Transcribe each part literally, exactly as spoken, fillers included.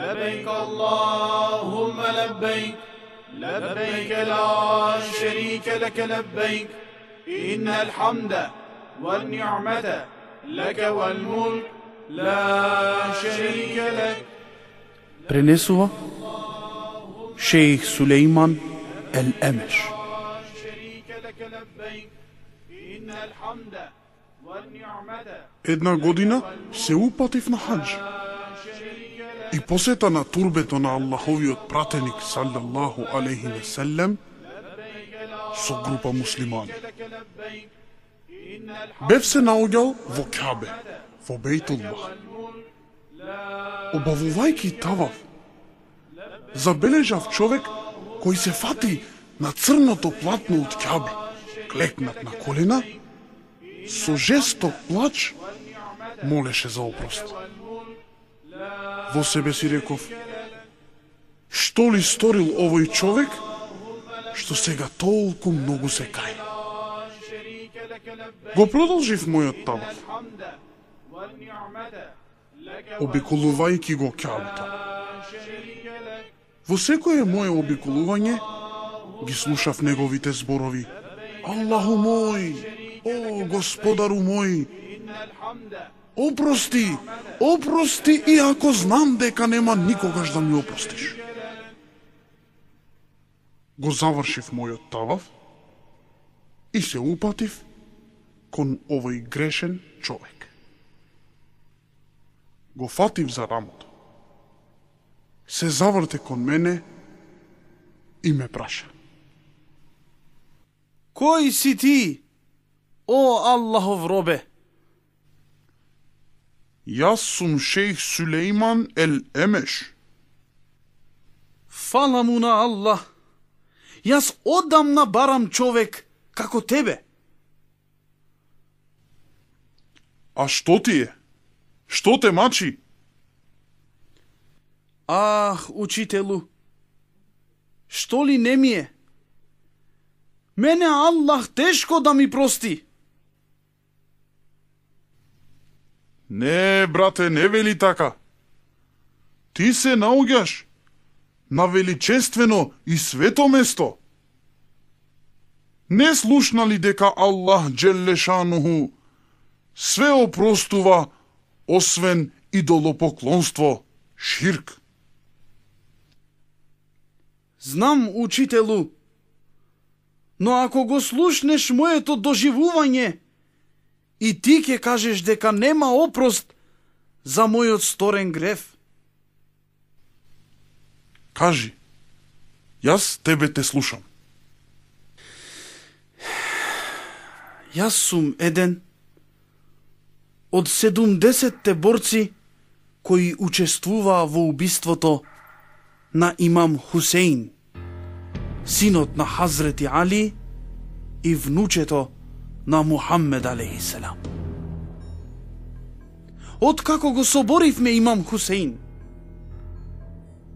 لبيك اللهم لبيك لبيك لا شريك لك لبيك إن الحمد والنعمة لك والملك لا شريك لك. Пренесува шејх Сулејман ел Емеш. Една година се упатив на хаџ и посета на турбето на Аллаховиот пратеник саллаллаху алейхи ве селем со група муслимани. Бев се наоѓал во Кабе, во Бејтуллах. Обавувајќи таваф, забележав човек кој се фати на црното платно од Кабе, клекнат на колена, со жесток плач молеше за опрост. Во себе си реков, што ли сторил овој човек, што сега толку многу се кај. Го продолжив мојот таваф, обиколувајќи го Кабето. Во секое моје обиколување ги слушав неговите зборови: Аллаху мој, о Господару мој, опрости, опрости, иако знам дека нема никогаш да ми опростиш. Го завршив мојот таваф и се упатив кон овој грешен човек. Го фатив за рамото. Се заврте кон мене и ме праша: Кој си ти, о Аллахов робе? Јас сум шејх Сулејман ел Емеш. Фала му на Аллах. Јас одамна барам човек како тебе. А што ти е? Што те мачи? Ах, учителу, што ли не ми е? Мене Аллах тешко да ми прости. Не, брате, не вели така. Ти се наоѓаш на величествено и свето место. Не слушна ли дека Аллах Джеллешануху све опростува, освен идолопоклонство, ширк? Знам, учителу, но ако го слушнеш моето доживување, и ти ќе кажеш дека нема опрост за мојот сторен грев. Кажи, јас тебе те слушам. Јас сум еден од седумдесетте борци кои учествуваа во убиството на имам Хусеин, синот на Хазрети Али и внучето на Мухаммед алейхиселам. Откако го соборивме имам Хусеин,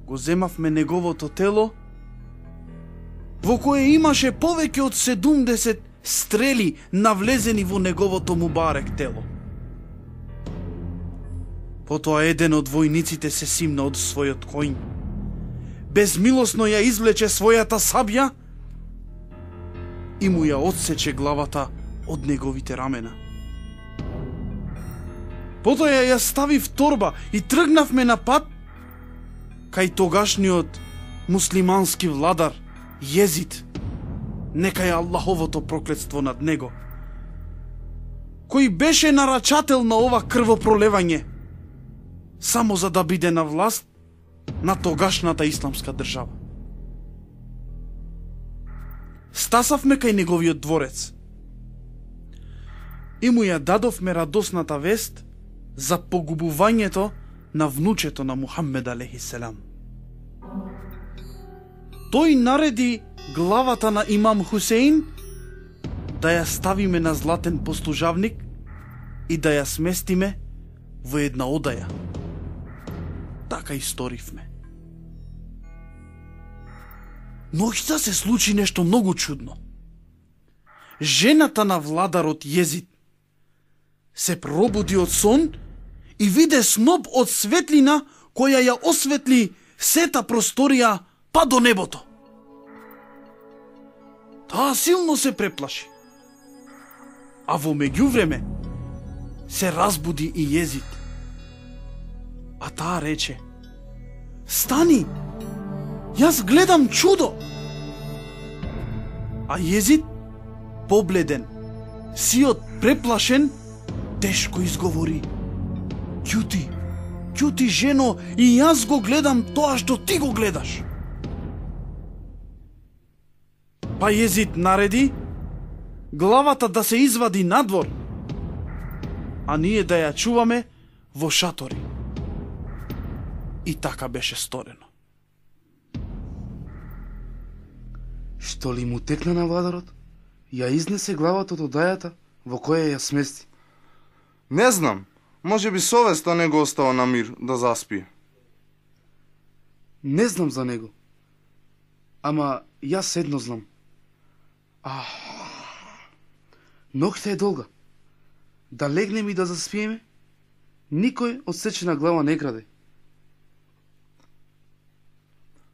го земавме неговото тело, во кое имаше повеќе од седумдесет стрели навлезени во неговото мубарек тело. Потоа еден од војниците се симна од својот коњ, безмилосно ја извлече својата сабја и му ја одсече главата од неговите рамена. Потоа ја, ја стави в торба и тргнавме на пат кај тогашниот муслимански владар Језид, нека е Аллаховото проклетство над него, кој беше нарачател на ова крвопролевање, само за да биде на власт на тогашната исламска држава. Стасавме кај неговиот дворец и му ја дадовме радосната вест за погубувањето на внучето на Мухаммед алейхиселам. Тој нареди главата на имам Хусеин да ја ставиме на златен послужавник и да ја сместиме во една одаја. Така и сторивме. Ноќта се случи нешто многу чудно. Жената на владарот Језид се пробуди од сон и виде сноп од светлина која ја осветли сета просторија па до небото. Таа силно се преплаши. А во меѓувреме се разбуди и Језид. А таа рече: стани, јас гледам чудо. А Језид, побледен, сиот преплашен, тешко изговори: ќути, ќути жено, и јас го гледам тоа што ти го гледаш. Па Језид нареди главата да се извади надвор, а ние да ја чуваме во шатори. И така беше сторено. Што ли му текна на владарот? Ја изнесе главата од одајата во која ја смести. Не знам, може би совеста не го остава на мир да заспие. Не знам за него. Ама јас едно знам. Ах, ноќта е долга. Да легнеме и да заспиеме, никој од сечена глава не краде.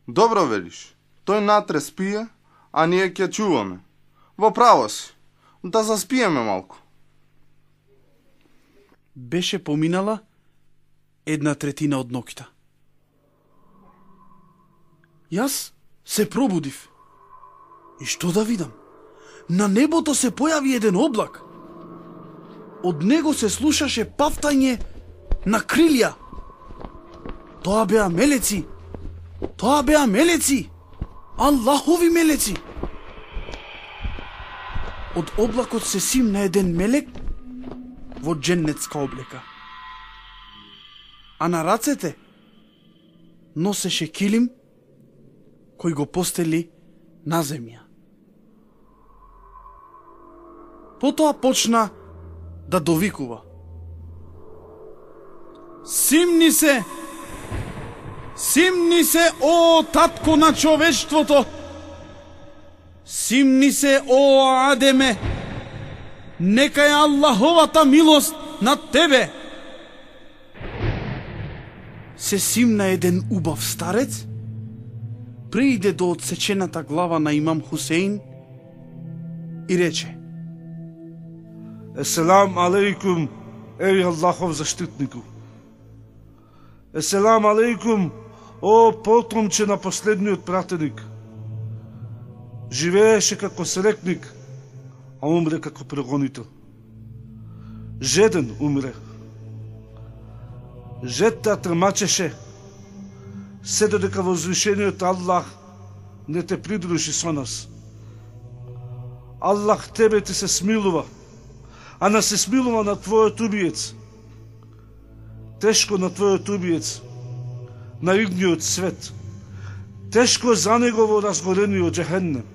Добро велиш, тој натре спие, а ние ќе чуваме. Во право си, да заспиеме малку. Беше поминала една третина од ноќта. Јас се пробудив. И што да видам? На небото се појави еден облак. Од него се слушаше пафтање на крилја. Тоа беа мелеци. Тоа беа мелеци. Аллахови мелеци. Од облакот се симна еден мелек во дженнетска облека. А на рацете носеше килим кој го постели на земја. Потоа почна да довикува: симни се! Симни се, о татко на човештвото! Симни се, о Адеме! Нека е Аллаховата милост над тебе! Се симна еден убав старец, прииде до отсечената глава на имам Хусеин и рече: Еселам алейкум, еј Аллахов заштитнику. Еселам алейкум, о потомче на последниот пратеник. Живееше како срекник, а умре како прогонител. Жеден умре. Жетта трмачеше, се додека возвишениот Аллах не те придружи со нас. Аллах тебе ти се смилува, а не се смилува на твојот убиец. Тешко на твојот убиец, на игниот свет. Тешко за него во разгорениот џехеннем.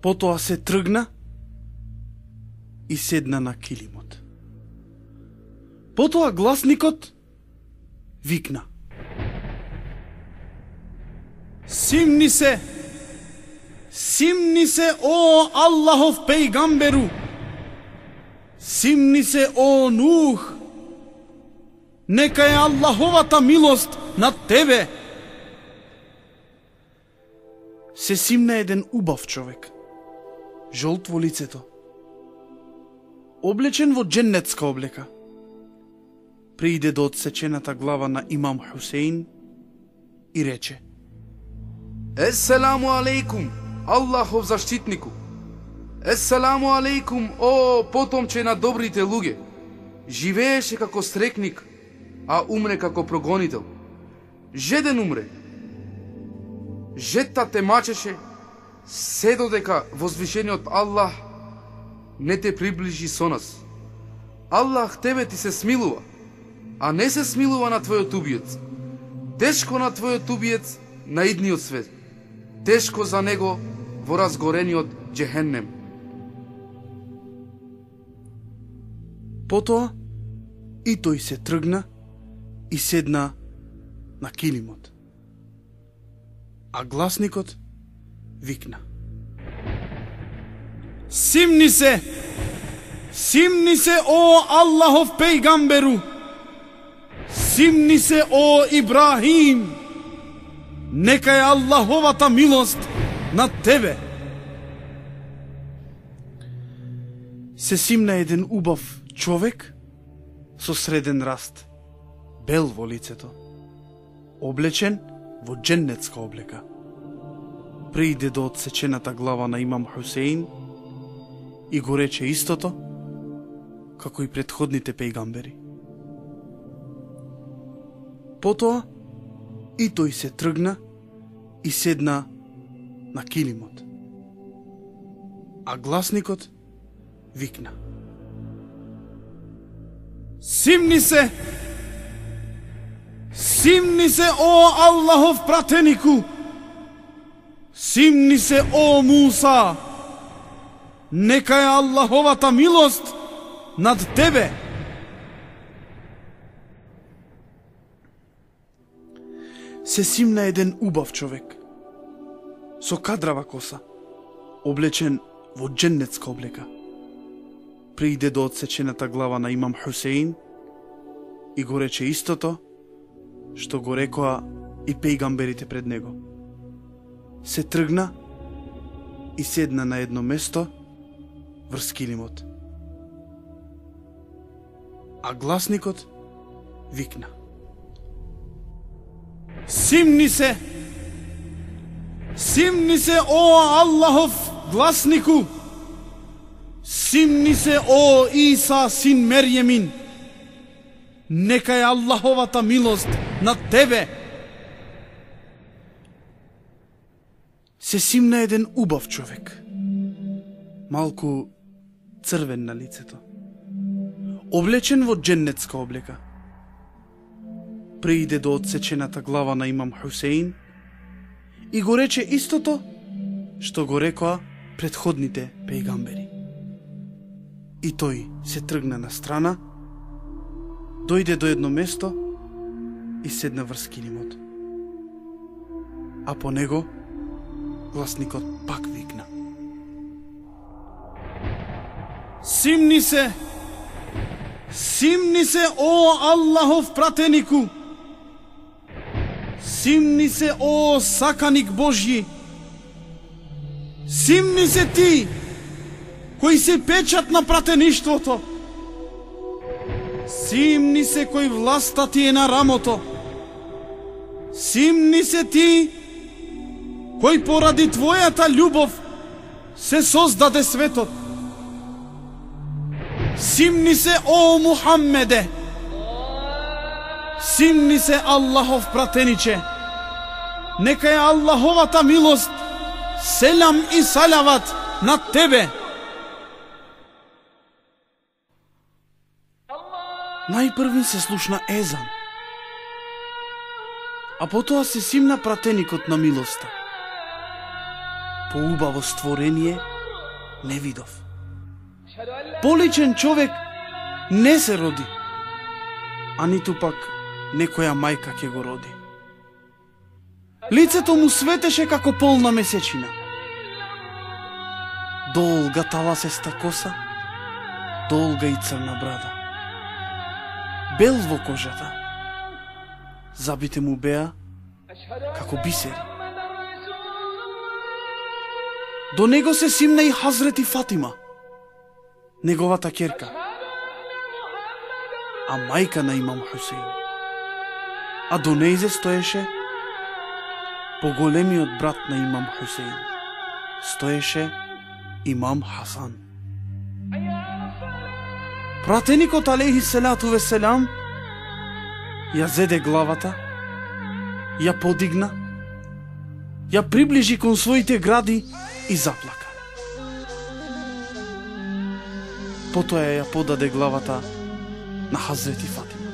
Потоа се тргна и седна на килимот. Потоа гласникот викна: симни се! Симни се, о Аллахов пејгамберу! Симни се, о Нух! Нека е Аллаховата милост над тебе! Се симна еден убав човек, жолт во лицето, облечен во дженнетска облека. Прииде до отсечената глава на имам Хусеин и рече: Еселаму алейкум, Аллахов заштитнику. Еселаму алейкум, о потомче на добрите луѓе. Живееше како срекник, а умре како прогонител. Жеден умре. Жетта те мачеше, се додека возвишениот Аллах не те приближи со нас. Аллах тебе ти се смилува, а не се смилува на твојот убиец. Тешко на твојот убиец на идниот свет. Тешко за него во разгорениот џехеннем. Потоа и тој се тргна и седна на килимот. А гласникот викна: симни се! Симни се о Аллахов пејгамберу, симни се о Ибрахим, нека е Аллаховата милост над тебе. Се симна еден убав човек со среден раст, бел во лицето, облечен во дженнетска облека. Пријде до отсечената глава на имам Хусеин и го рече истото како и претходните пејгамбери. Потоа и тој се тргна и седна на килимот. А гласникот викна: Симни се! Симни се о Аллахов пратенику! Симни се о Муса! Нека е Аллаховата милост над тебе! Се симна еден убав човек со кадрава коса, облечен во дженнетска облека. Пријде до отсечената глава на имам Хусеин и го рече истото што го рекоа и пејгамберите пред него. Се тргна и седна на едно место врз килимот. А гласникот викна: Симни се! Симни се о Аллахов гласнику! Симни се о Иса син Мерјемин! Нека е Аллаховата милост над тебе! Се симна еден убав човек, малку црвен на лицето, облечен во дженнетска облека. Пријде до отсечената глава на имам Хусеин и го рече истото што го рекоа претходните пејгамбери. И тој се тргна на страна, дојде до едно место и седна врз килимот. А по него гласникот пак викна: Симни се! Симни се о Аллахов пратенику! Симни се о саканик Божји! Симни се ти, кој се печат на пратеништвото! Симни се кој власта ти е на рамото! Симни се ти, кој поради твојата љубов се создаде светот! Симни се о Мухаммеде! Симни се Аллахов пратениче! Нека е Аллаховата милост, селам и салават над тебе! Најпрвин се слушна езан, а потоа се симна пратеникот на милоста. Поубаво створение не видов. Поличен човек не се роди, а ниту пак некоја мајка ќе го роди. Лицето му светеше како полна месечина. Долга таласеста коса, долга и црна брада. Бел во кожата. Забите му беа како бисери. До него се симна и Хазрети Фатима, неговата ќерка, а мајка на имам Хусеин. А до нејзе стоеше поголемиот брат на имам Хусеин. Стоеше имам Хасан. Пратеникот алейхи селату веселам ја зеде главата, ја подигна, ја приближи кон своите гради и заплака. Потоа ја подаде главата на Хазрети Фатима.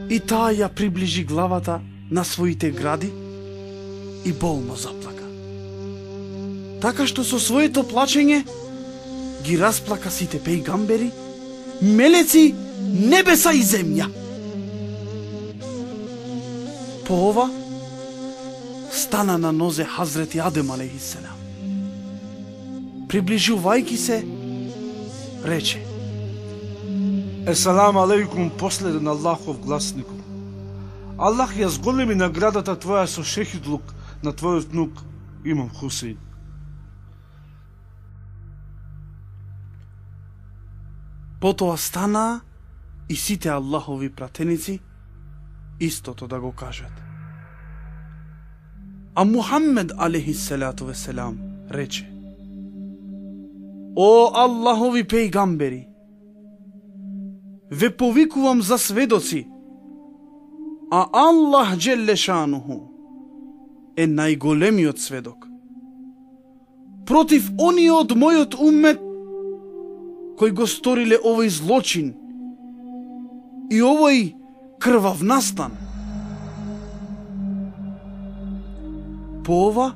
И таа ја приближи главата на своите гради и болно заплака. Така што со своето плачење ги расплака сите пејгамбери, мелеци, небеса и земја. По ова стана на нозе Хазрети Адем алейхиссалам. приближувајќи се, рече: Есалам алейкум, последен Аллахов гласнику. Аллах ја зголеми наградата твоја со шехидлук на твојот внук Имам Хусейн. Потоа стана и сите Аллахови пратеници истото да го кажат. А Мухаммед алейхиссалату веселам рече: О Аллахови пејгамбери, ве повикувам за сведоци, а Аллах Джеллешануху е најголемиот сведок против оние од мојот уммет кои го сториле овој злочин и овој крвав настан. По ова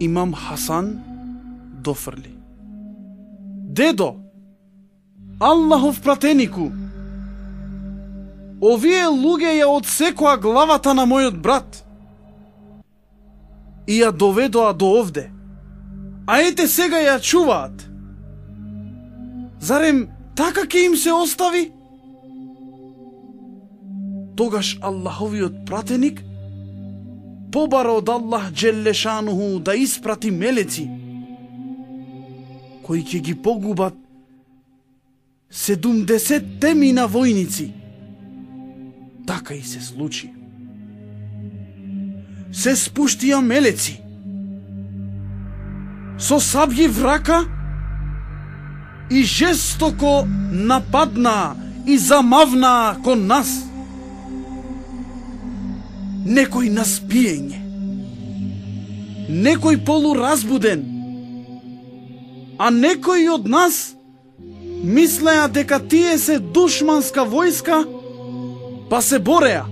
имам Хасан дофрли: Дедо, Аллахов пратенику, овие луѓе ја одсекоа главата на мојот брат и ја доведоа до овде, а ете сега ја чуваат. Зарем така ќе им се остави? Тогаш Аллаховиот пратеник побара од Аллах Джеллешануху да испрати мелеци кои ќе ги погубат седумдесет темина војници. Така и се случи. Се спуштија мелеци со сабји врака и жестоко нападнаа и замавнаа кон нас. Некој на спиење, некој полуразбуден, а некои од нас мислеа дека тие се душманска војска, па се бореа,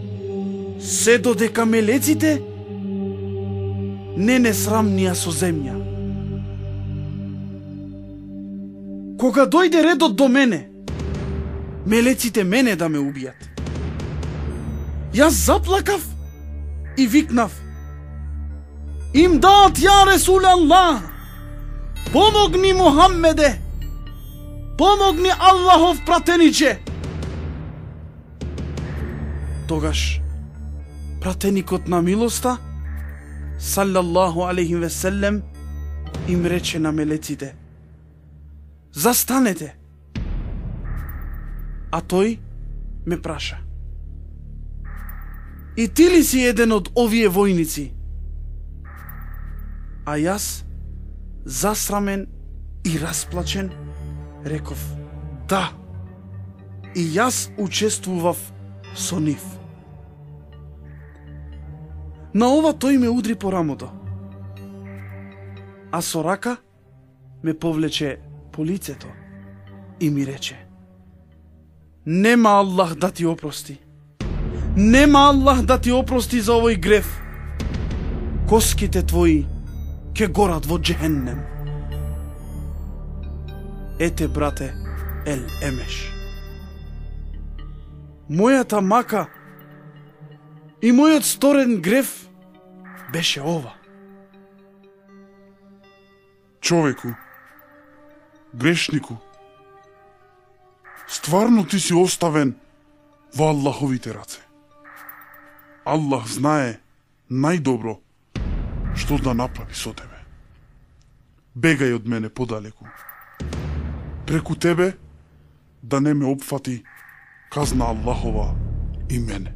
се додека мелеците не не срамнија со земја. Кога дојде редот до мене, мелеците мене да ме убијат, јас заплакав и викнав: Им дат, ја Ресул Аллах! Помогни Мухаммеде! Помогни Аллахов пратениче! Тогаш пратеникот на милоста, саллаллаху алейхи веселем, им рече на мелеците: Застанете! А тој ме праша: И ти ли си еден од овие војници? А јас, засрамен и расплачен, реков: Да, и јас учествував со нив. На ова тој ме удри по рамото, а со рака ме повлече по лицето и ми рече: Нема Аллах да ти опрости. Нема Аллах да ти опрости за овој греф. Коските твои ќе горат во джехеннем. Ете, брате, ел емеш. Мојата мака и мојот сторен греф беше ова. Човеку, грешнику, стварно ти си оставен во Аллаховите раце. Аллах знае најдобро што да направи со тебе. Бегај од мене подалеку. Преку тебе да не ме опфати казна Аллахова и мене.